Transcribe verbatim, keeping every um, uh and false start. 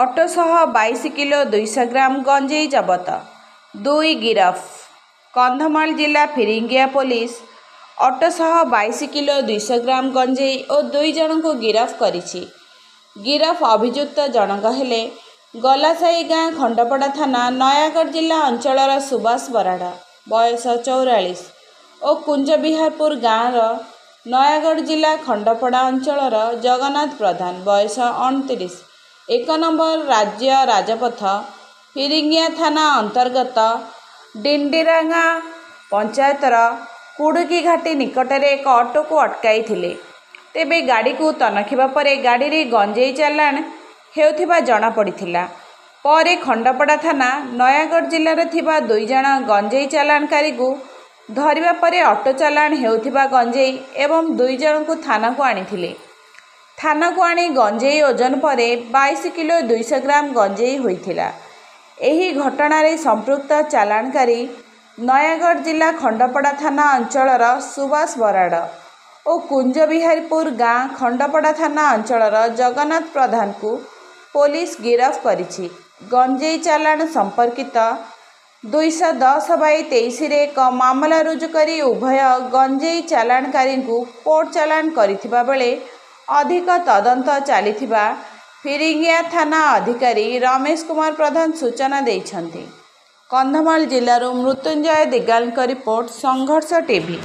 Auto ସହ ବାଇଶି kilo ଦୁଇଶହ ଗ୍ରାମ ଗଞ୍ଜେଇ ଜବତ, ଦୁଇ ଗିରଫ। କନ୍ଧମାଳ ଜିଲ୍ଲା ଫିରିଙ୍ଗିଆ ପୋଲିସ ଅଟୋ ସହ ବାଇଶି କିଲୋ ଦୁଇଶହ ଗ୍ରାମ ଗଞ୍ଜେଇ ଓ ଦୁଇ ଜଣଙ୍କୁ ଗିରଫ କରିଛି। ଗିରଫ ଅଭିଯୁକ୍ତ ଜଣକ ହେଲେ ଗଲାସାହି ଗାଁ, ଖଣ୍ଡପଡ଼ା ଥାନା, ନୟାଗଡ଼ ଜିଲ୍ଲା ଅଞ୍ଚଳର ସୁବାସ ବରାଡ଼, ବୟସ ଚଉରାଳିଶ ଓ କୁଞ୍ଜବିହାରପୁର ଗାଁର ନୟାଗଡ଼ ଜିଲ୍ଲା ଖଣ୍ଡପଡ଼ା ଅଞ୍ଚଳର ଜଗନ୍ନାଥ ପ୍ରଧାନ, ବୟସ ଅଣତିରିଶ। ଏକ ନମ୍ବର ରାଜ୍ୟ ରାଜପଥ ଫିରିଙ୍ଗିଆ ଥାନା ଅନ୍ତର୍ଗତ ଡିଣ୍ଡିରାଗାଁ ପଞ୍ଚାୟତର କୁଡ଼ୁକି ଘାଟି ନିକଟରେ ଏକ ଅଟୋକୁ ଅଟକାଇଥିଲେ। ତେବେ ଗାଡ଼ିକୁ ତନଖିବା ପରେ ଗାଡ଼ିରେ ଗଞ୍ଜେଇ ଚାଲାଣ ହେଉଥିବା ଜଣାପଡ଼ିଥିଲା। ପରେ ଖଣ୍ଡପଡ଼ା ଥାନା ନୟାଗଡ଼ ଜିଲ୍ଲାରେ ଥିବା ଦୁଇ ଜଣ ଗଞ୍ଜେଇ ଚାଲାଣକାରୀଙ୍କୁ ଧରିବା ପରେ ଅଟୋ ଚାଲାଣ ହେଉଥିବା ଗଞ୍ଜେଇ ଏବଂ ଦୁଇ ଜଣଙ୍କୁ ଥାନାକୁ ଆଣିଥିଲେ। ଥାନାକୁ ଆଣି ଗଞ୍ଜେଇ ଓଜନ ପରେ ବାଇଶି କିଲୋ ଦୁଇଶହ ଗ୍ରାମ ଗଞ୍ଜେଇ ହୋଇଥିଲା। ଏହି ଘଟଣାରେ ସମ୍ପୃକ୍ତ ଚାଲାଣକାରୀ ନୟାଗଡ଼ ଜିଲ୍ଲା ଖଣ୍ଡପଡ଼ା ଥାନା ଅଞ୍ଚଳର ସୁବାସ ବରାଡ଼ ଓ କୁଞ୍ଜବିହାରୀପୁର ଗାଁ, ଖଣ୍ଡପଡ଼ା ଥାନା ଅଞ୍ଚଳର ଜଗନ୍ନାଥ ପ୍ରଧାନଙ୍କୁ ପୋଲିସ ଗିରଫ କରିଛି। ଗଞ୍ଜେଇ ଚାଲାଣ ସମ୍ପର୍କିତ ଦୁଇଶହ ଦଶ ବାଇ ତେଇଶରେ ଏକ ମାମଲା ରୁଜୁ କରି ଉଭୟ ଗଞ୍ଜେଇ ଚାଲାଣକାରୀଙ୍କୁ କୋର୍ଟ ଚାଲାଣ କରିଥିବା ବେଳେ ଅଧିକ ତଦନ୍ତ ଚାଲିଥିବା ଫିରିଙ୍ଗିଆ ଥାନା ଅଧିକାରୀ ରମେଶ କୁମାର ପ୍ରଧାନ ସୂଚନା ଦେଇଛନ୍ତି। କନ୍ଧମାଳ ଜିଲ୍ଲାରୁ ମୃତ୍ୟୁଞ୍ଜୟ ଦିଗାଲଙ୍କ ରିପୋର୍ଟ, ସଂଘର୍ଷ ଟିଭି।